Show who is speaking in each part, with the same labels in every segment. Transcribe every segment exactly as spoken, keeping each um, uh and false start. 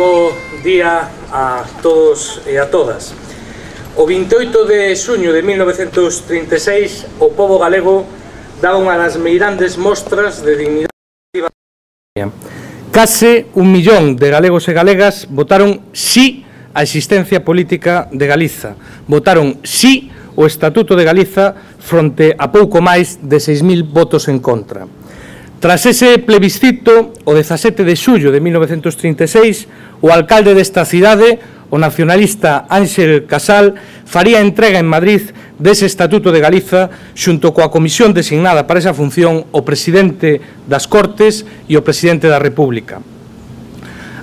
Speaker 1: bo día a todos e a todas. O vinte e oito de xuño de mil novecentos trinta e seis, o pobo galego daba unha das meirandes mostras de dignidade. Case un millón de galegos e galegas votaron sí a existencia política de Galiza. Votaron sí o Estatuto de Galiza fronte a pouco máis de seis mil votos en contra. Tras ese plebiscito, o dezasete de xullo de mil novecentos trinta e seis, o alcalde desta cidade, o nacionalista Ángel Casal, faría entrega en Madrid dese Estatuto de Galiza xunto coa comisión designada para esa función o presidente das Cortes e o presidente da República.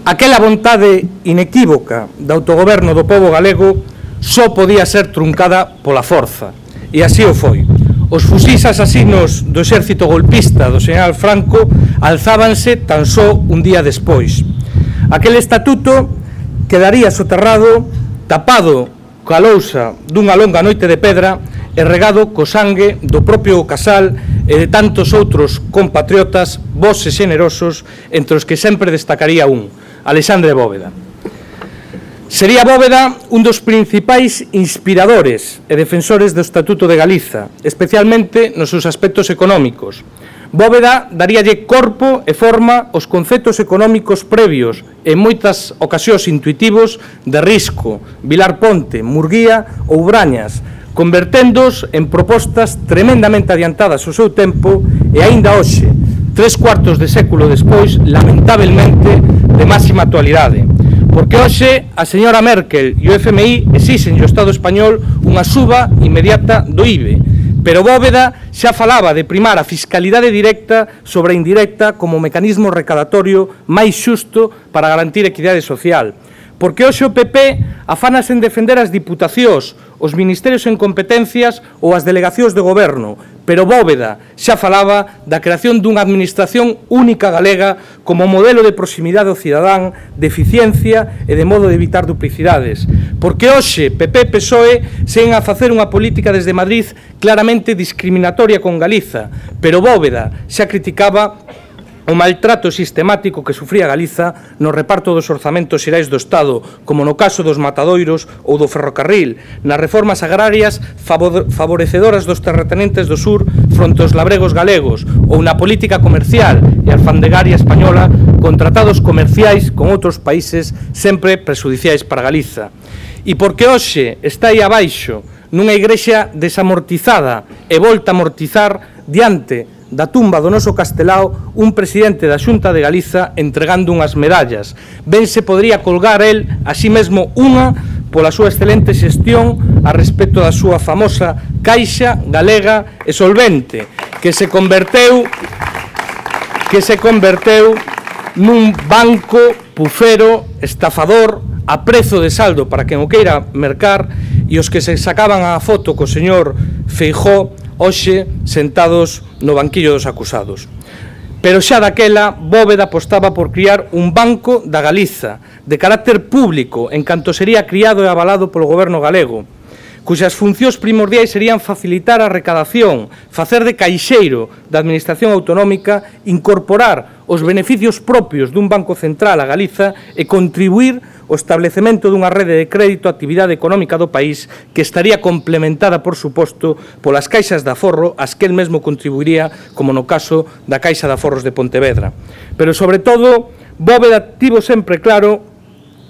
Speaker 1: Aquela vontade inequívoca de autogoberno do pobo galego só podía ser truncada pola forza, e así o foi. Os fusís asasinos do exército golpista do señor Franco alzábanse tan só un día despois. Aquel estatuto quedaría soterrado, tapado coa lousa dunha longa noite de pedra e regado co sangue do propio Casal e de tantos outros compatriotas bos e xenerosos, entre os que sempre destacaría un, Alexandre Bóveda. Sería Bóveda un dos principais inspiradores e defensores do Estatuto de Galiza, especialmente nos seus aspectos económicos. Bóveda daríalle corpo e forma aos conceptos económicos previos e en moitas ocasións intuitivos de Risco, Vilar Ponte, Murguía ou Brañas, converténdoos en propostas tremendamente adiantadas ao seu tempo e aínda hoxe, tres cuartos de século despois, lamentablemente de máxima actualidade. Porque hoxe a señora Merkel e o F M I exixen ao Estado español unha suba inmediata do I B E, pero Bóveda xa falaba de primar a fiscalidade directa sobre a indirecta como mecanismo recadatorio máis xusto para garantir equidade social. Porque hoxe o P P afánase en defender as diputacións, os ministerios en competencias ou as delegacións de goberno, pero Bóveda xa falaba da creación dunha administración única galega como modelo de proximidade ao cidadán, de eficiencia e de modo de evitar duplicidades. Porque hoxe P P e P S O E seguen a facer unha política desde Madrid claramente discriminatoria con Galiza, pero Bóveda xa criticaba o maltrato sistemático que sufría Galiza no reparto dos orzamentos xerais do Estado, como no caso dos matadoiros ou do ferrocarril, nas reformas agrarias favorecedoras dos terratenentes do sur fronte aos labregos galegos, ou na política comercial e alfandegaria española con tratados comerciais con outros países sempre prexudiciais para Galiza. E porque hoxe está aí abaixo nunha igrexa desamortizada e volta a amortizar diante da tumba do noso Castelao un presidente da Xunta de Galiza entregando unhas medallas. Ben se podría colgar el a sí mesmo unha pola súa excelente xestión a respecto da súa famosa Caixa Galega e Solvente, que se converteu que se converteu nun banco pufero, estafador, a prezo de saldo para quen o queira mercar, e os que se sacaban a foto co señor Feijóo hoxe sentados no banquillo dos acusados. Pero xa daquela, Bóveda apostaba por criar un banco da Galiza, de carácter público, en canto sería criado e avalado polo goberno galego, cuxas funcións primordiais serían facilitar a recadación, facer de caixeiro da administración autonómica, incorporar os beneficios propios dun banco central a Galiza e contribuir ao establecemento dunha rede de crédito á actividade económica do país que estaría complementada, por suposto, polas caixas de aforro ás que el mesmo contribuiría, como no caso da Caixa de Aforros de Pontevedra. Pero, sobre todo, Bóveda tivo sempre claro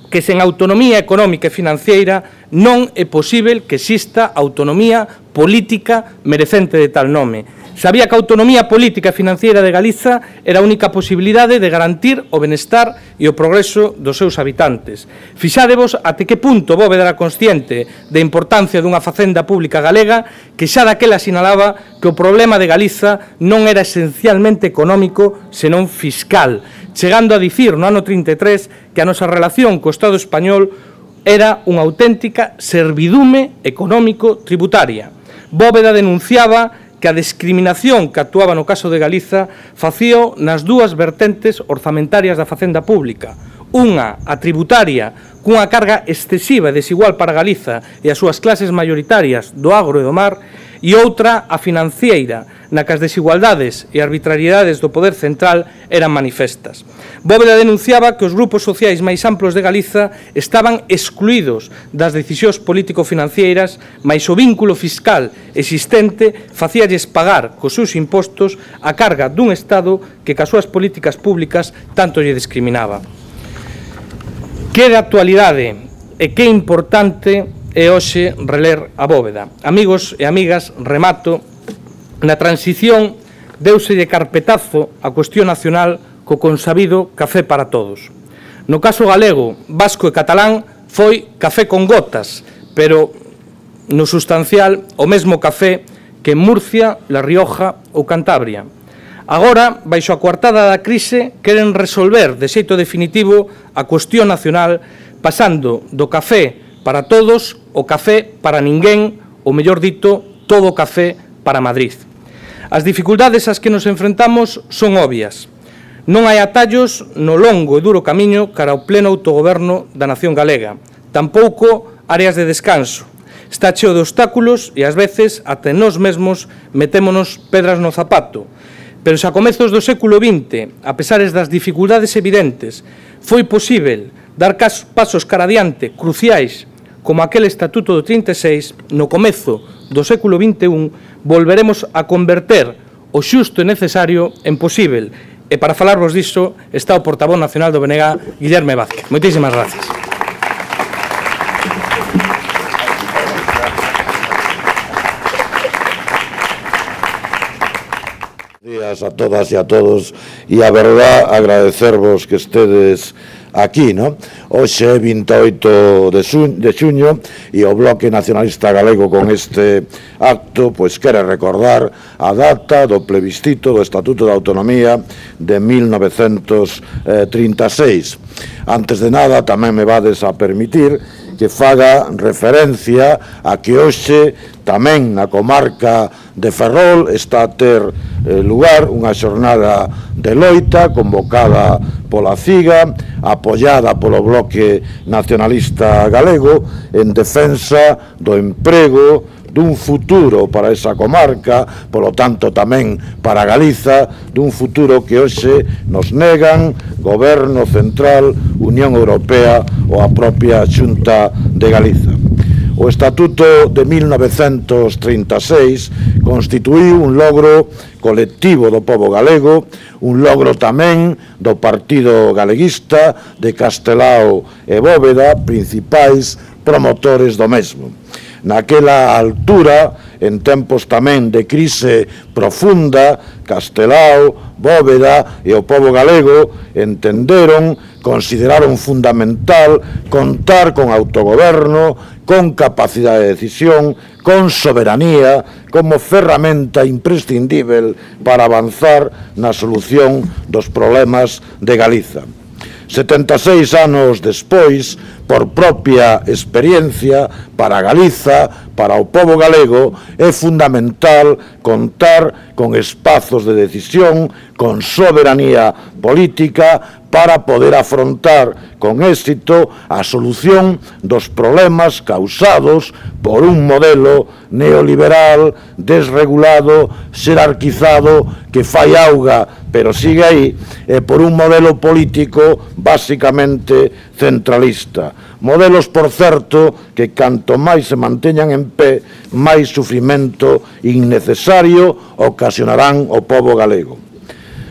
Speaker 1: que sen autonomía económica e financiera non é posível que exista autonomía política merecente de tal nome. Sabía que a autonomía política e financiera de Galiza era a única posibilidade de garantir o benestar e o progreso dos seus habitantes. Fixádevos até que punto Bóveda era consciente da importancia dunha facenda pública galega que xa daquela sinalaba que o problema de Galiza non era esencialmente económico, senón fiscal, chegando a dicir no ano trinta e tres que a nosa relación co Estado español era unha auténtica servidume económico-tributaria. Bóveda denunciaba que a discriminación que actuaba no caso de Galiza facíao nas dúas vertentes orzamentarias da facenda pública. Unha, a tributaria, cunha carga excesiva e desigual para Galiza e as súas clases maioritarias do agro e do mar, e outra a financiera, na que as desigualdades e arbitrariedades do poder central eran manifestas. Bóveda denunciaba que os grupos sociais máis amplos de Galiza estaban excluídos das decisións político-financeiras, mais o vínculo fiscal existente facíalles pagar cos seus impostos a carga dun Estado que cas súas políticas públicas tanto lle discriminaba. Que de actualidade e que importante é hoxe reler a Bóveda. Amigos e amigas, remato, na transición deuselle carpetazo a cuestión nacional co consabido café para todos. No caso galego, vasco e catalán foi café con gotas, pero no sustancial o mesmo café que en Murcia, La Rioja ou Cantabria. Agora, baixo a coartada da crise, queren resolver de xeito definitivo a cuestión nacional pasando do café para todos o café para ninguén, ou mellor dito, todo o café para Madrid. As dificultades ás que nos enfrentamos son obvias. Non hai atallos no longo e duro camiño cara ao pleno autogoberno da nación galega. Tampouco áreas de descanso. Está cheo de obstáculos e, ás veces, até nós mesmos metémonos pedras no zapato. Pero se a comezos do século vinte, a pesares das dificultades evidentes, foi posível dar pasos cara adiante cruciais como aquel Estatuto do trinta e seis, no comezo do século vinte e un, volveremos a converter o xusto e necesario en posível. E para falarvos disso está o portavoz nacional do B N G, Guillerme Vázquez. Moitísimas gracias.
Speaker 2: Días a todas e a todos, e a verdad agradecervos que estedes aquí, non? Hoxe é vinte e oito de xuño e o Bloque Nacionalista Galego con este acto pois quere recordar a data do plebiscito do Estatuto de Autonomía de mil novecentos trinta e seis. Antes de nada, tamén me vades a permitir que faga referencia a que hoxe tamén na comarca de Ferrol está a ter eh, lugar unha xornada de loita convocada pola CIGA, apoiada polo Bloque Nacionalista Galego en defensa do emprego, dun futuro para esa comarca, polo tanto tamén para Galiza, dun futuro que hoxe nos negan Goberno Central, Unión Europea ou a propia Xunta de Galiza. O Estatuto de mil novecentos trinta e seis constituíu un logro colectivo do pobo galego, un logro tamén do Partido Galeguista, de Castelao e Bóveda, principais promotores do mesmo. Naquela altura, en tempos tamén de crise profunda, Castelao, Bóveda e o pobo galego entenderon, consideraron fundamental contar con autogoberno, con capacidade de decisión, con soberanía, como ferramenta imprescindível para avanzar na solución dos problemas de Galiza. setenta e seis anos despois, por propia experiencia, para Galiza, para o pobo galego, é fundamental contar con espazos de decisión, con soberanía política, para poder afrontar con éxito a solución dos problemas causados por un modelo neoliberal, desregulado, xerarquizado, que fai auga, pero sigue aí, e por un modelo político basicamente centralista. Modelos, por certo, que canto máis se manteñan en pé, máis sufrimento innecesario ocasionarán ao pobo galego.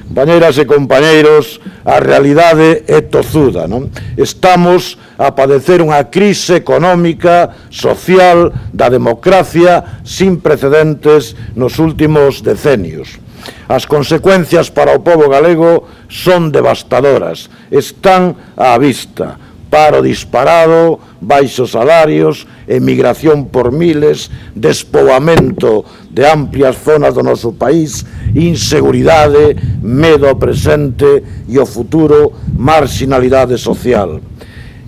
Speaker 2: Compañeiras e compañeiros, a realidade é tozuda, non? Estamos a padecer unha crise económica, social, da democracia sin precedentes nos últimos decenios. As consecuencias para o pobo galego son devastadoras, están á vista. Paro disparado, baixos salarios, emigración por miles, despoboamento de amplias zonas do noso país, inseguridade, medo ao presente e ao futuro, marxinalidade social.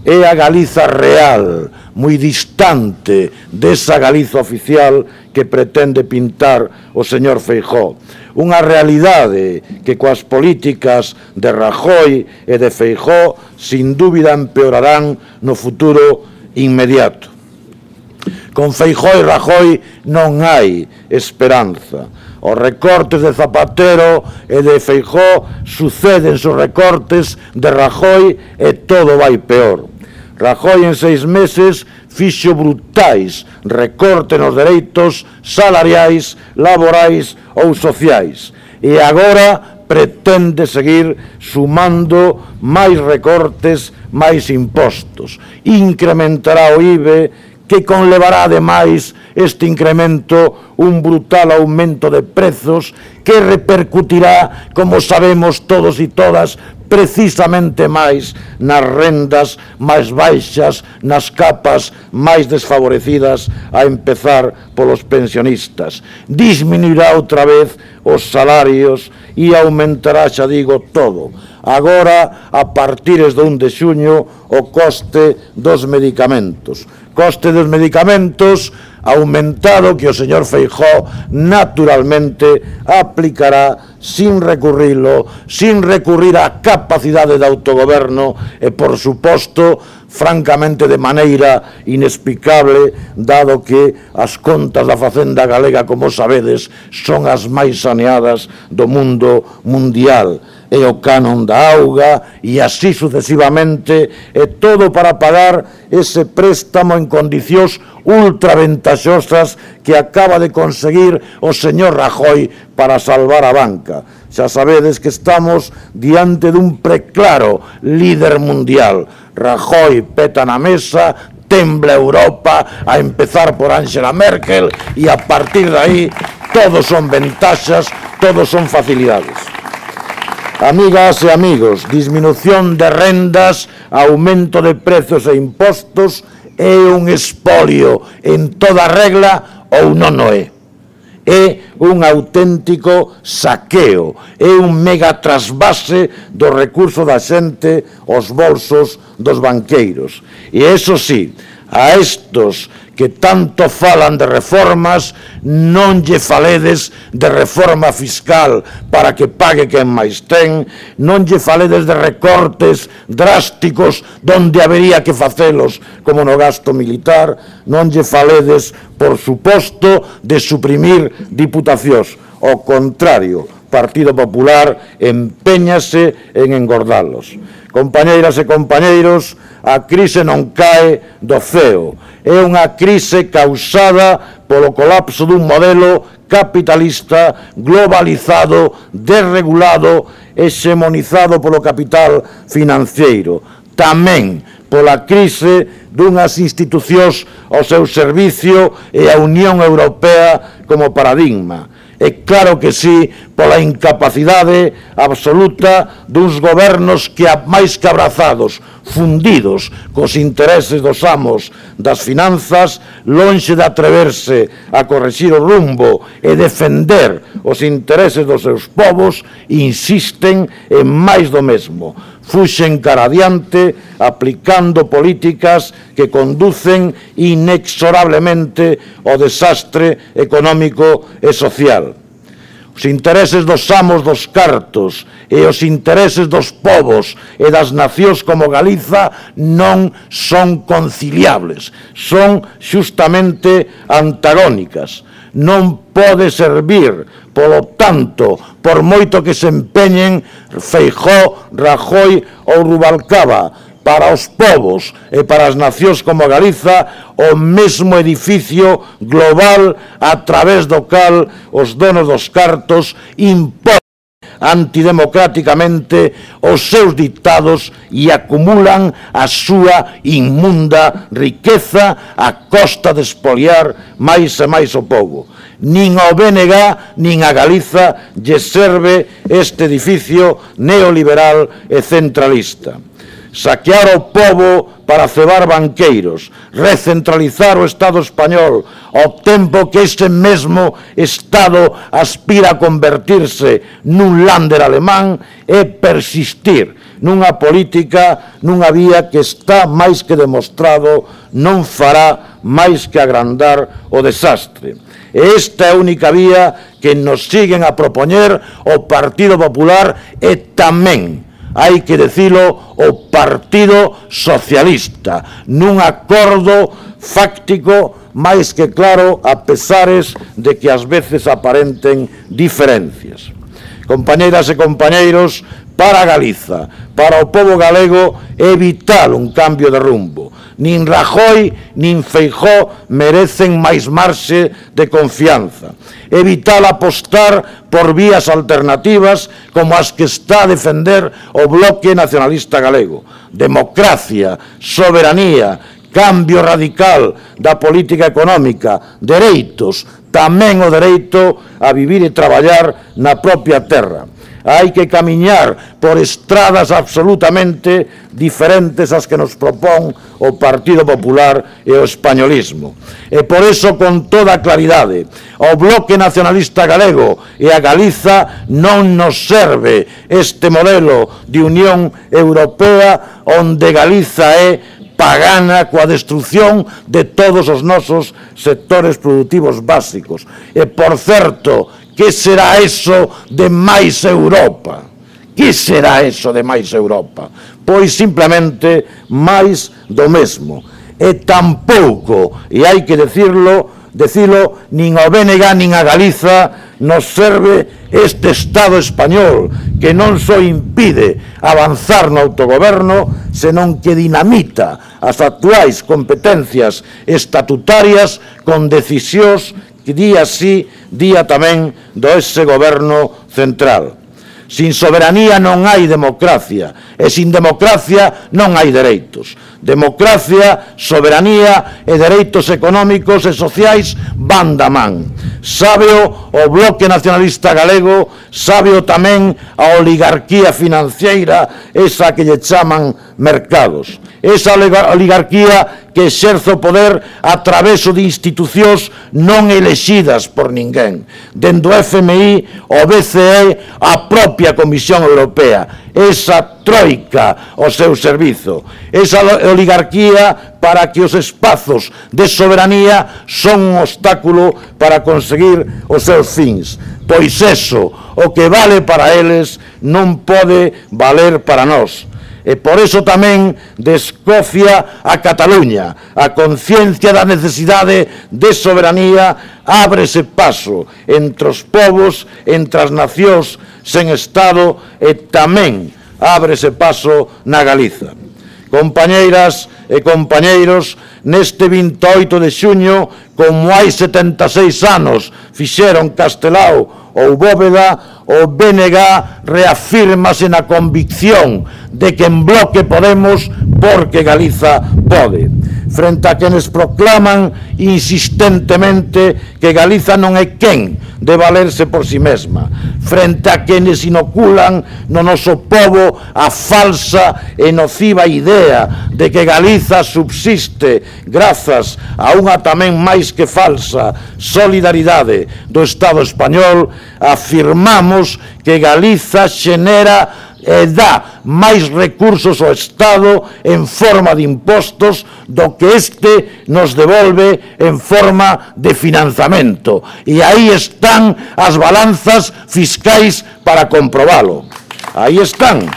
Speaker 2: É a Galiza real, moi distante desa Galiza oficial que pretende pintar o señor Feijóo. Unha realidade que coas políticas de Rajoy e de Feijóo sin dúbida empeorarán no futuro inmediato. Con Feijóo e Rajoy non hai esperanza. Os recortes de Zapatero e de Feijóo suceden os recortes de Rajoy e todo vai peor. Rajoy en seis meses fixo brutais recortes nos dereitos salariais, laborais ou sociais e agora pretende seguir sumando máis recortes, máis impostos. Incrementará o I V E, que conlevará ademais este incremento un brutal aumento de prezos que repercutirá, como sabemos todos e todas, precisamente máis nas rendas máis baixas, nas capas máis desfavorecidas, a empezar polos pensionistas. Disminuirá outra vez os salarios e aumentará, xa digo, todo. Agora, a partir do un de xuño, o coste dos medicamentos. Coste dos medicamentos aumentado que o señor Feijóo naturalmente aplicará sin recurrilo, sin recurrir á capacidade de autogoberno e, por suposto, francamente de maneira inexplicable, dado que as contas da Facenda galega, como sabedes, son as máis saneadas do mundo mundial. E o canon da auga e así sucesivamente, e todo para pagar ese préstamo en condicións ultraventaxosas que acaba de conseguir o señor Rajoy para salvar a banca. Xa sabedes que estamos diante dun preclaro líder mundial. Rajoy peta na mesa, tembla Europa, a empezar por Angela Merkel, e a partir de aí todos son ventaxas, todos son facilidades. Amigas e amigos, disminución de rendas, aumento de prezos e impostos é un espolio en toda regla ou non o é. É un auténtico saqueo, é un mega trasvase do recurso da xente aos bolsos dos banqueiros. E iso sí, a estos que tanto falan de reformas, non lle faledes de reforma fiscal para que pague quen máis ten, non lle faledes de recortes drásticos donde habería que facelos, como no gasto militar, non lle faledes, por suposto, de suprimir diputacións. Ao contrario, Partido Popular empeñase en engordalos. Compañeiras e compañeiros, a crise non cae do ceo. É unha crise causada polo colapso dun modelo capitalista globalizado, desregulado, hexemonizado polo capital financiero. Tamén pola crise dunhas institucións ao seu servicio e a Unión Europea como paradigma. E claro que sí, pola incapacidade absoluta duns gobernos que, máis que abrazados, fundidos cos intereses dos amos das finanzas, lonxe de atreverse a corrixir o rumbo e defender os intereses dos seus povos, insisten en máis do mesmo. Fuxen cara adiante aplicando políticas que conducen inexorablemente ao desastre económico e social. Os intereses dos amos dos cartos e os intereses dos povos e das nacións como Galiza non son conciliables, son xustamente antagónicas. Non pode servir, polo tanto, por moito que se empeñen Feijóo, Rajoy ou Rubalcaba, para os povos e para as nacións como Galiza, o mesmo edificio global a través do cal os donos dos cartos imponen antidemocráticamente os seus dictados e acumulan a súa inmunda riqueza a costa de espoliar máis e máis o povo. Nin ao B N G nin a Galiza lle serve este edificio neoliberal e centralista. Saquear o pobo para cebar banqueiros, recentralizar o Estado español, ao tempo que ese mesmo Estado aspira a convertirse nun Länder alemán, é persistir nunha política, nunha vía que está máis que demostrado non fará máis que agrandar o desastre. E esta é a única vía que nos siguen a propoñer o Partido Popular e tamén, hai que dicilo, o Partido Socialista, nun acordo fáctico máis que claro, a pesares de que ás veces aparenten diferencias. Compañeiras e compañeiros, para Galiza, para o pobo galego, é vital un cambio de rumbo. Nin Rajoy, nin Feijóo merecen máis marxe de confianza. É vital apostar por vías alternativas como as que está a defender o Bloque Nacionalista Galego. Democracia, soberanía, cambio radical da política económica, dereitos, tamén o dereito a vivir e traballar na propia terra. Hai que camiñar por estradas absolutamente diferentes ás que nos propón o Partido Popular e o españolismo. E por eso, con toda claridade, o Bloque Nacionalista Galego e a Galiza non nos serve este modelo de Unión Europea onde Galiza é pagana coa destrucción de todos os nosos sectores produtivos básicos. E, por certo, que será eso de máis Europa? Que será eso de máis Europa? Pois simplemente máis do mesmo. E tampouco, e hai que decirlo, decilo, nin ao B N G nin a Galiza nos serve este Estado español que non só impide avanzar no autogoberno, senón que dinamita as actuais competencias estatutarias con decisións que día sí, día tamén do ese goberno central. Sin soberanía non hai democracia, e sin democracia non hai dereitos. Democracia, soberanía e dereitos económicos e sociais van da man. Sábeo o Bloque Nacionalista Galego, sábeo tamén a oligarquía financiera, esa que lle chaman mercados. Esa oligarquía que exerce o poder a través de institucións non elexidas por ninguén. Dende o F M I, o B C E, a propia Comisión Europea. Esa troika ao seu servizo. Esa oligarquía para que os espazos de soberanía son un obstáculo para conseguir os seus fins. Pois eso, o que vale para eles, non pode valer para nós. E por eso tamén de Escocia a Cataluña, a conciencia da necesidade de soberanía ábrese paso entre os povos, entre as nacións sen Estado e tamén ábrese paso na Galiza. Compañeiras e compañeiros, neste vinte e oito de xuño, como hai setenta e seis anos fixeron Castelao ou Bóveda, o B N G reafírmase na convicción de que en Bloque podemos porque Galiza pode. Frente a quenes proclaman insistentemente que Galiza non é quen de valerse por si mesma, frente a quenes inoculan no noso povo a falsa e nociva idea de que Galiza subsiste grazas a unha tamén máis que falsa solidaridade do Estado español, afirmamos que Galiza xenera e dá máis recursos ao Estado en forma de impostos do que este nos devolve en forma de financiamento. E aí están as balanzas fiscais para comprobalo. Aí están.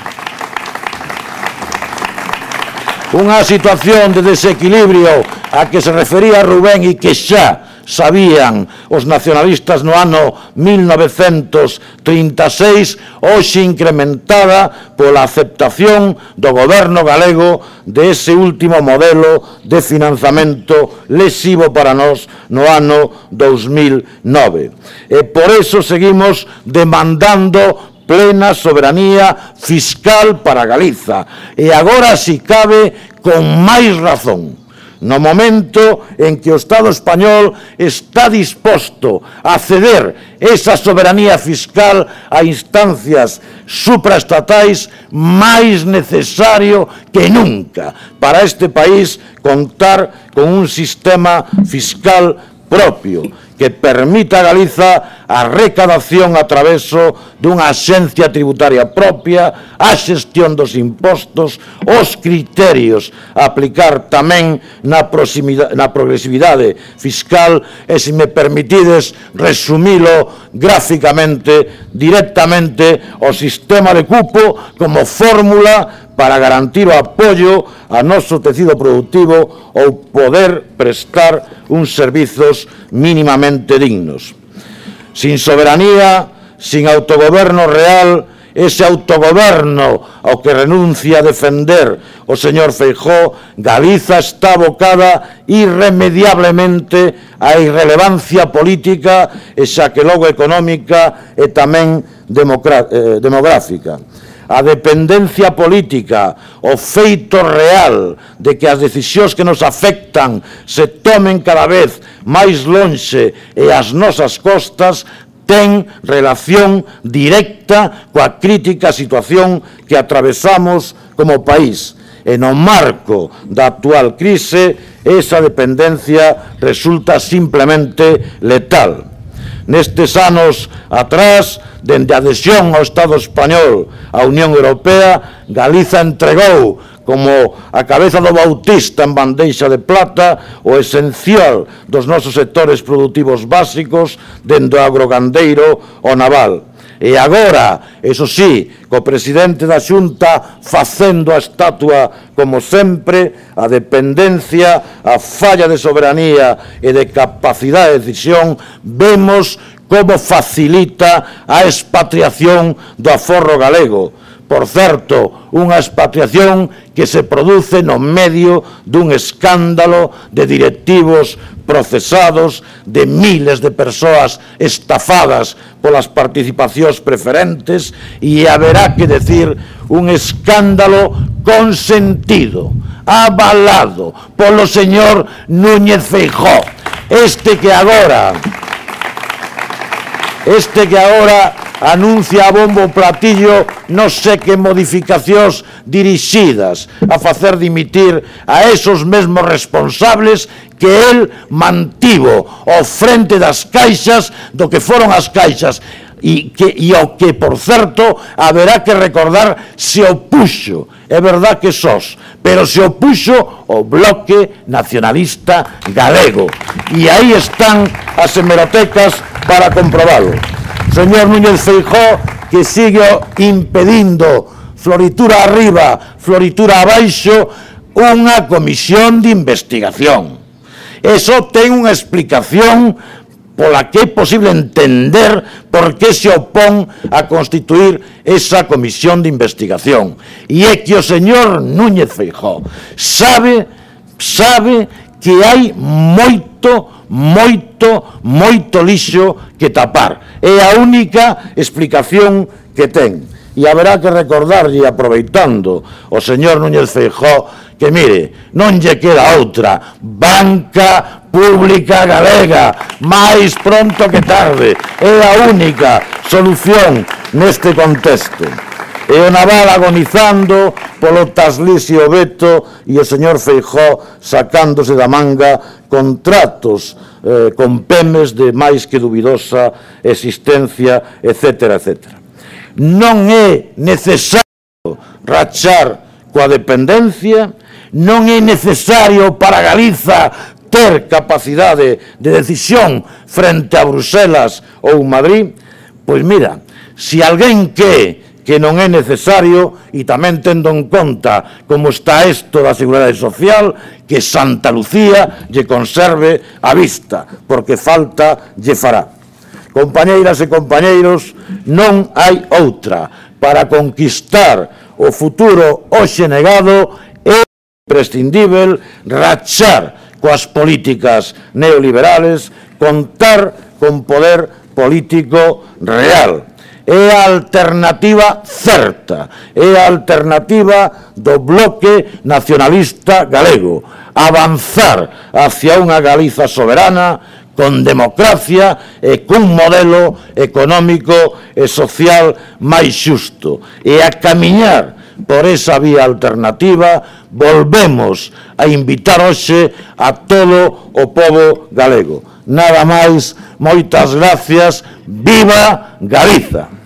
Speaker 2: Unha situación de desequilibrio a que se refería Rubén e que xa sabían os nacionalistas no ano mil novecentos trinta e seis, hoxe incrementada pola aceptación do goberno galego de ese último modelo de financiamento lesivo para nós no ano dous mil nove. E por eso seguimos demandando plena soberanía fiscal para Galiza, e agora, si cabe, con máis razón. No momento en que o Estado español está disposto a ceder esa soberanía fiscal a instancias supraestatais, máis necesario que nunca para este país contar con un sistema fiscal propio que permita a Galiza a recadación a traveso dunha axencia tributaria propia, a xestión dos impostos, os criterios a aplicar tamén na, na progresividade fiscal e, se me permitides resumilo gráficamente, directamente o sistema de cupo como fórmula para garantir o apoio a noso tecido productivo ou poder prestar uns servizos mínimamente dignos. Sin soberanía, sin autogoberno real, ese autogoberno ao que renuncia a defender o señor Feijóo, Galiza está abocada irremediablemente á irrelevancia política e xa que logo económica e tamén demográfica. A dependencia política, o feito real de que as decisións que nos afectan se tomen cada vez máis lonxe e ás nosas costas, ten relación directa coa crítica situación que atravesamos como país. E no marco da actual crise, esa dependencia resulta simplemente letal. Nestes anos atrás, dende a adhesión ao Estado español á Unión Europea, Galiza entregou como a cabeza do Bautista en bandeixa de plata o esencial dos nosos sectores produtivos básicos, dende o agrogandeiro ao naval. E agora, eso sí, co presidente da Xunta facendo a estatua como sempre, a dependencia, a falla de soberanía e de capacidade de decisión, vemos como facilita a expatriación do aforro galego. Por certo, unha expatriación que se produce no medio dun escándalo de directivos procesados, de miles de persoas estafadas polas participacións preferentes, e haberá que decir un escándalo consentido, avalado polo señor Núñez Feijóo, este que agora este que agora anuncia a bombo platillo non sei que modificacións dirixidas a facer dimitir a esos mesmos responsables que el mantivo ao frente das caixas do que foron as caixas e, que, e ao que, por certo, haberá que recordar se opuxo, é verdad que sos, pero se opuxo o Bloque Nacionalista Galego. E aí están as hemerotecas para comprobalo. Señor Núñez Feijóo, que sigue impedindo floritura arriba, floritura abaixo, unha comisión de investigación. Eso ten unha explicación pola que é posible entender por que se opón a constituir esa comisión de investigación. E é que o señor Núñez Feijóo sabe, sabe que hai moito, moito, moito lixo que tapar. É a única explicación que ten. E haberá que recordarlle, aproveitando o señor Núñez Feijóo, que mire, non lle queda outra, banca pública galega, máis pronto que tarde, é a única solución neste contexto. E o naval agonizando polo taslisio veto e o señor Feijóo sacándose da manga contratos eh, con pemes de máis que dubidosa existencia, etcétera, etcétera. Non é necesario rachar coa dependencia, non é necesario para Galiza ter capacidade de decisión frente a Bruselas ou Madrid. Pois mira, se alguén que que non é necesario, e tamén tendo en conta como está isto da Seguridade Social, que Santa Lucía lle conserve a vista, porque falta lle fará. Compañeiras e compañeiros, non hai outra. Para conquistar o futuro hoxe negado é imprescindível rachar coas políticas neoliberales, contar con poder político real. É a alternativa certa, é a alternativa do Bloque Nacionalista Galego, avanzar hacia unha Galiza soberana, con democracia e cun modelo económico e social máis xusto. E a camiñar por esa vía alternativa volvemos a invitar hoxe a todo o pobo galego. nada máis, moitas gracias, viva Galiza!